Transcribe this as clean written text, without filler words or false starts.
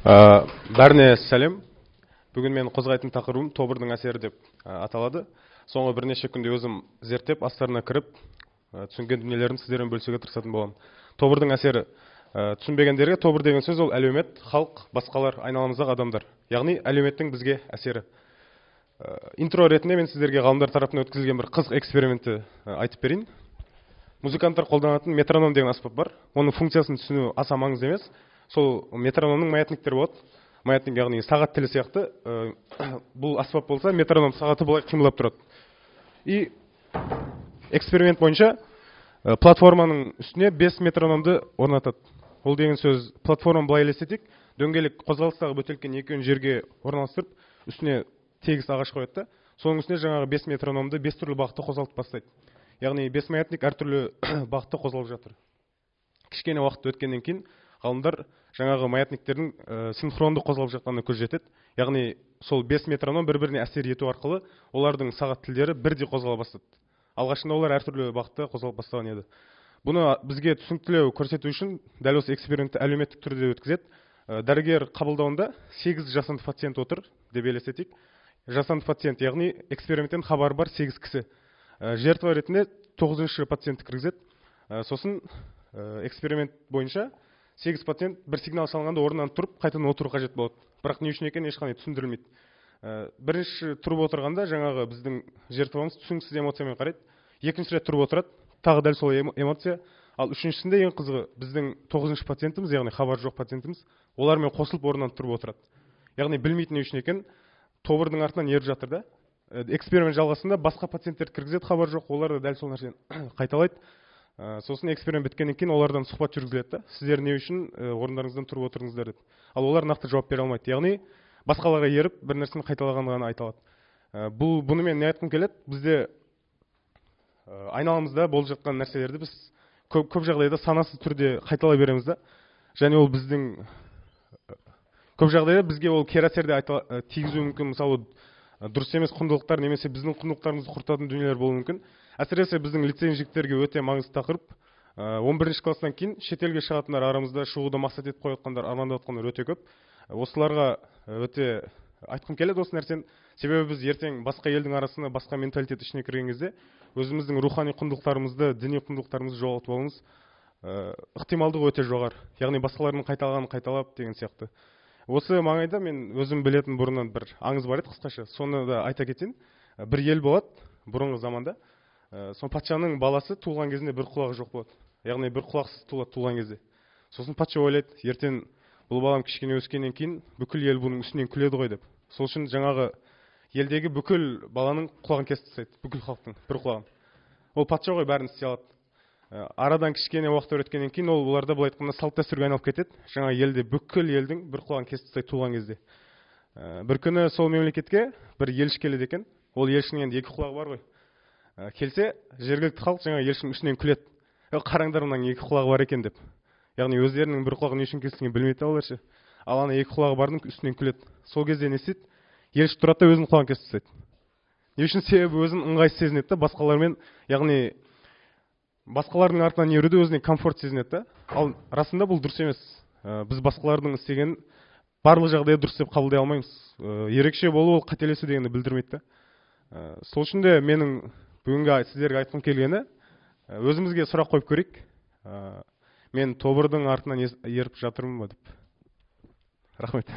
Бәріне сәлем. Бүгін мен қозғайтын тақырыбым тобырдың әсері деп аталады. Соңғы бірнеше күнде өзім зерттеп, астарына кіріп, түсінген дүниелерін сіздермен бөлісуге тырысатын боламын. Тобырдың әсері. Түсінбегендерге тобыр деген сөз ол әлеумет, халық, басқалар, айналамыздағы адамдар. Яғни әлеуметтің бізге әсері. Интро ретінде мен сіздерге ғалымдар тарапынан өткізілген бір қызық экспериментті айтып берейін. Музыканттар қолданатын метроном деген аспап бар. Оның функциясын түсіну аса маңызды емес. Сол метрономның маятниктері болады. Маятник яғни сағат тілі сияқты. Бұл аспап болса, метроном сағаты былай қимылдап тұрады. И эксперимент бойынша платформаның үстіне 5 метрономды орнатады. Ол деген сөз, платформаны былай елестетейік, дөңгелек қозғалыстағы бөтелкен екеуін жерге орналастырып, үстіне тегіс ағаш қояды. Соның үстіне жаңағы 5 метрономды 5 түрлі бағытта қозғалтып бастайды. Яғни 5 маятник әртүрлі бағытта қозғалып жатыр. Кішкене уақыт өткеннен кейін ғалымдар жаңағы маятниктердің синхронды қозғалып жатқанына көз жетеді. Яғни сол 5 метроном бір-біріне әсер ету арқылы олардың сағат тілдері бірдей қозғала бастады. Алғашында олар әртүрлі бағытта қозғалып бастаған еді. Бұны бізге түсініктілеу көрсету үшін дәл осы экспериментті әлеуметтік түрде өткізеді. Дәрігер қабылдауында 8 жасанды пациент отыр деп елестетейік. Жасанды пациент, яғни эксперименттен хабары бар 8 кісі. Жертва ретінде 9-шы пациентті кіргізеді. Сосын эксперимент бойынша 8 пациент бір сигнал салынғанда орнынан тұрып, қайтадан отыру қажет болады. Бірақ не үшін екені ешқандай түсіндірілмейді. Бірінші тұрып отырғанда жаңағы біздің жертвамыз түсініксіз эмоциямен қарайды. Екінші рет тұрып отырады, тағы дәл сол эмоция. Ал үшіншісінде ең қызығы, біздің 9-шы пациентіміз, яғни хабар жоқ пациентіміз, олармен қосылып орнынан тұрып отырады. Яғни білмейтін не үшін екен, тобырдың артынан еріп жатыр да. Эксперимент жалғасында басқа пациенттерді кіргізеді, хабар жоқ, олар да дәл сол нәрсені қайталайды. Сосын эксперимент біткеннен кейін олардан сұхбат жүргізіледі. Сіздер не үшін орындарыңыздан тұрып отырыңыздар деді. Ал олар нақты жауап бере алмайды. Яғни басқаларға еріп бір нәрсені қайталағаны ғана айта алады. Бұны мен не айтқым келеді? Бізде айналамызда болып жатқан нәрселерді біз көп жағдайда санасыз түрде қайталай береміз да. Және ол біздің көп жағдайда бізге ол кері әсерде тигізуі мүмкін. Мысалы дұрыс емес құндылықтар немесе біздің құндылықтарымызды құртатын дүниелер болуы мүмкін. Әсіресе біздің лицей жігіттерге өте маңызды тақырып. 11-ші класстан кейін шетелге шығатындар, арамызда шығуды мақсат етіп қойғандар, армандап жатқандар өте көп. Осыларға өте айтқым келеді осы нәрсені. Себебі біз ертең басқа елдің арасына, басқа менталитет ішіне кірген кезде өзіміздің рухани құндылықтарымызды, діни құндылықтарымызды жоғалтып алуымыз ықтималдығы өте жоғары. Яғни басқалардың қайталағанын қайталап деген сияқты. Осы маңайда мен өзім білетін бұрыннан бір аңыз бар еді қысқаша. Соны да айта кетейін. Бір ел болады бұрынғы заманда. Сон патшаның баласы туылған кезінде бір құлағы жоқ болады. Яғни бір құлақсыз туылады туылған кезде. Сосын патша ойлайды, ертең бұл балам кішкене өскеннен кейін бүкіл ел бұның үстінен күледі ғой деп. Сол үшін жаңағы елдегі бүкіл баланың құлағын кесіп тастайды, бүкіл халықтың бір құлағын. Ол патша ғой, бәрін істей алады. Арадан кішкене уақыт өткеннен кейін ол оларда былай айтқанда салт дәстүрге айналып кетеді. Жаңа елде бүкіл елдің бір құлағын кесіп тастайды туылған кезде. Бір күні сол мемлекетке бір елші келеді екен. Ол елшінің енді 2 құлағы бар ғой. Келсе, жергілікті халық жаңа елшінің үстінен күледі. Қараңдар, мынаның 2 құлағы бар екен деп. Яғни өздерінің бір құлағы не үшін кесілгенін білмейді олар ше. Ал ана 2 құлағы бардың үстінен күледі. Сол кезде не істейді? Елші тұрады да өзінің құлағын кесіп тастайды. Не үшін? Себебі өзін ыңғайсыз сезінеді да басқалармен, яғни басқалардың артынан еруді өзіне комфорт сезінеді да. Ал расында бұл дұрыс емес. Біз басқалардың істеген барлық жағдайды дұрыс деп қабылдай алмаймыз. Ерекше болу ол қателесу дегенді білдірмейді да. Сол үшін де менің бүгінгі сіздерге айтқым келгені, өзімізге сұрақ қойып көрейік. Мен тобырдың артынан еріп жатырмын ба деп. Рахмет.